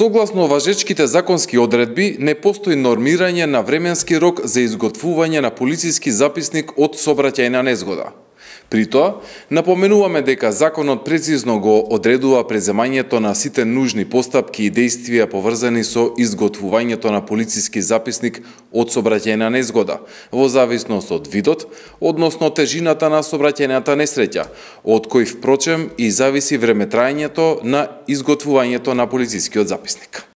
Согласно важечките законски одредби, не постои нормирање на временски рок за изготвување на полициски записник од сообраќајна незгода. При тоа, напоменуваме дека законот прецизно го одредува преземањето на сите нужни постапки и действија поврзани со изготвувањето на полициски записник од сообраќајна незгода, во зависност од видот, односно тежината на сообраќајната несреќа, од кој впрочем и зависи времетраењето на изготвувањето на полицискиот записник.